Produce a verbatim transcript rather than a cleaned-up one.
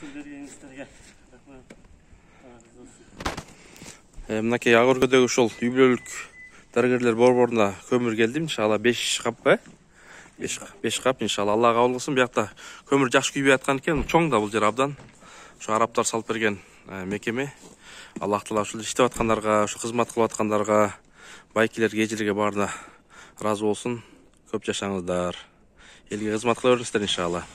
бергениңиздерге рахмат. Мынакей ак өргөдөгү ушул үй бүлөлүк дарыгерлер борборуна көмүр келди. Иншалла беш капка. беш кап иншалла. Алла кабыл кылсын. Биякта көмүр жакшы күйбөй аткан экен. Чоң да бул жер абдан. Ошо араптар салып берген мекеме. Аллах таала ушул иштеп аткандарга, ушу кызмат кылып аткандарга, байкелерге, эжелерге баарына ыраазы болсун. Көп жашаңыздар. Элге кызмат кыла бериңиздер иншалла.